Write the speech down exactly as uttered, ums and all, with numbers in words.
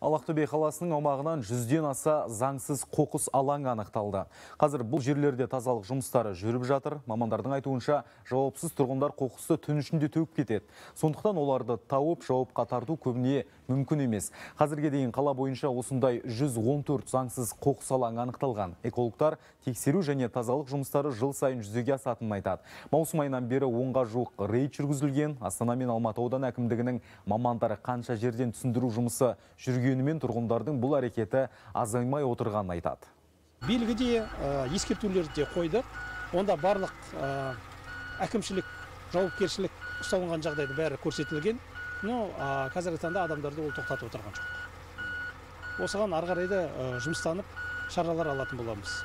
Ақтөбе қаласының аумағынан жүзден аса заңсыз қоқыс алаңы анықталды. Қазір бұл жерлерде тазалық жұмыстары жүріп жатыр. Мамандардың айтуынша, жауапсыз тұрғындар қоқысты түн ішінде төгіп кетеді. Сондықтан оларды тауып, жауапқа тарту көбіне мүмкін емес. Қазірге дейін қала бойынша осындай жүз он төрт заңсыз қоқыс алаңы анықталған. Экологтар тексеру және тазалық жұмыстары жыл сайын жүзеге асатынын айтады. Маусым айынан бері онға жуық рейд жүргізілген. Астана мен Алматы аудан әкімдігінің мамандары қанша жерден түсіндіру жұмысы жүргенімен тұрғындардың бұл әрекеті азаймай отырғанын айтады. Белгіде ескертулерді де қойдық. Онда барлық әкімшілік жауапкершілік ұсталынған жағдайды бәрі көрсетілген. Но қазіргі таңда адамдарды ол тоқтатып отырған жоқ. Осыған ары қарай да жұмыстанып шаралар алатын боламыз.